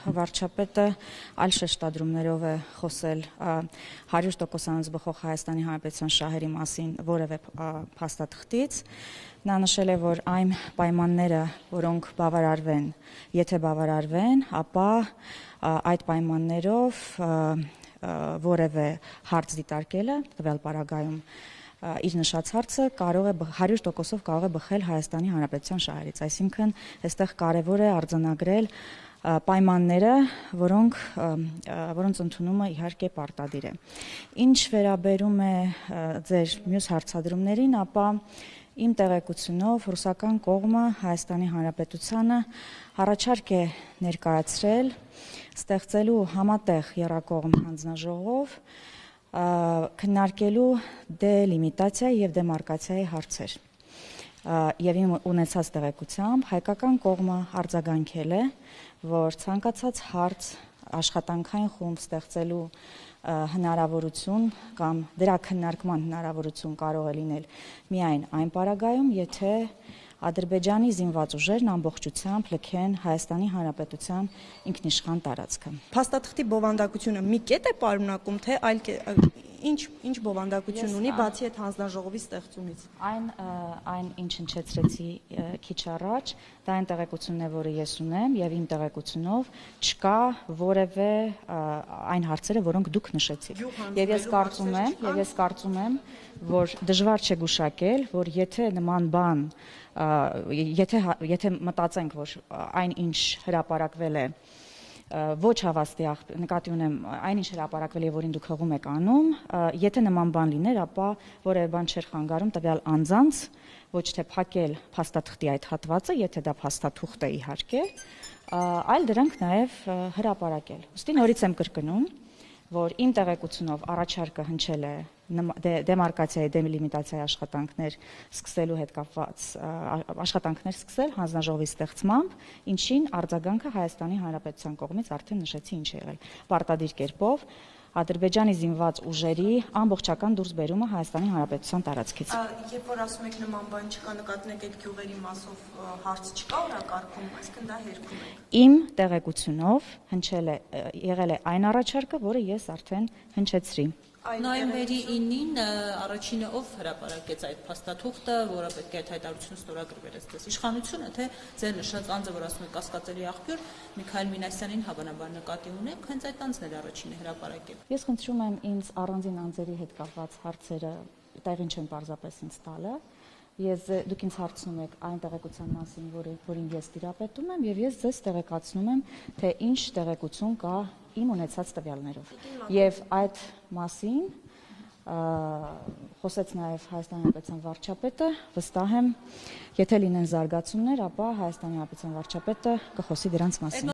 Վարչապետը այլ շեշտադրումներով է խոսել 100% բխող Հայաստանի Հանրապետության շահերի մասին որևէ փաստաթղթից։ Նա նշել է, որ այն պայմանները, որոնք բավարարվեն, եթե բավարարվեն, ապա այդ պայմաններով որևէ հարց դիտարկելը տվյալ պարագայում իր նշած հարցը 100%-ով կարող է բխել Հայաստանի Հանրապետության շահերից, այսինքն այստեղ կարևոր է արձանագրել պայմանները, որոնց ընդունումը իհարկե պարտադիր է։ Ինչ վերաբերում է ձեր մյուս հարցադրումներին, ապա իմ տեղեկությունով ռուսական կողմը Հայաստանի Հանրապետությանը առաջարկ է ներկայացրել ստեղծելու համատեղ եռակողմ հանձնաժողով քննարկելու դելիմիտացիա եւ դեմարկացիայի հարցեր։ Եվ իմ ունեցած տեղեկությամբ հայկական կողմը արձագանքել է, որ ցանկացած հարց աշխատանքային խումբ ստեղծելու հնարավորություն կամ դրա քննարկման հնարավորություն կարող է լինել միայն այն պարագայում, եթե Ադրբեջանի զինված ուժերն ամբողջությամբ լքեն Հայաստանի Հանրապետության ինքնիշխան տարածքը։ Փաստաթղթի բովանդակությունը մի կետ է պարունակում, թե այլ ինչ բովանդակություն ունի բացի այդ հանձնաժողովի ստեղծումից։ Այն ինչ հնչեցրեցի քիչ առաջ, դա այն տեղեկությունն է, որը ես ունեմ, եւ իմ տեղեկությունով չկա որևէ այն հարցերը, որոնք դուք նշեցիք։ Եվ ես կարծում եմ, որ դժվար չէ գուշակել, որ եթե նման բան եթե մտածենք, որ այն ինչ հրապարակվել է ոչ հավաստի նկատի ունեմ այնինչ հրապարակվել է, որին դուք հղում եք անում, եթե նման բան լիներ, ապա որևէ բան չէր խանգարում տվյալ անձանց ոչ թե փակել փաստաթղթի այդ հատվածը, եթե դա փաստաթուղթ է իհարկե, այլ դրանք նաև հրապարակել։ Ուստի նորից եմ կրկնում, որ իմ տեղեկությունով առաջարկը հնչել է դեմարկացիայի, դելիմիտացիայի աշխատանքներ սկսելու հետ կապված աշխատանքներ սկսել հանձնաժողովի ստեղծմամբ, ինչին արձագանքը Հայաստանի Հանրապետության կողմից արդեն նշեցի ինչ է եղել։ Պարտադիր կերպով Ադրբեջանի զինված ուժերի ամբողջական դուրսբերումը Հայաստանի Հանրապետության տարածքից։ Երբ որ ասում եք նման բան չկա, նկատում եք այդ գյուղերի մասով հարց չկա օրակարգում, այսինքն դա հերքում է։ Իմ տեղեկությունով եղել է այն առաջարկը, որը ես արդեն հնչեցրի։ Նոյեմբերի 9-ին առաջինը ով հրապարակեց այդ փաստաթուղթը, որը պետք է այդ հայտարարությունը ստորագրվեր այստեղ։ Իշխանությունը, թե ձեր նշած անձը, որ ասում է կասկածելի աղբյուր, Միքայել Մինասյանին հավանաբար նկատի ունեք, հենց այդ անձն էր առաջինը հրապարակել։ Ես խնդրում եմ ինձ առանձին անձերի հետ կապված հարցերը տեղին չեն պարզապես ինձ տալը։ Դուք ինձ հարցնում եք այն տեղեկության մասին, որին ես տիրապետում եմ, եւ ես ձեզ տեղեկացնում եմ, թե ինչ տեղեկություն կա իմ ունեցած տվյալներով։ Եվ այդ մասին խոսեց նաև Հայաստանի Հանրապետության վարչապետը, վստահ եմ, եթե լինեն զարգացումներ, ապա Հայաստանի Հանրապետության վարչապետը կխոսի դրանց մասին։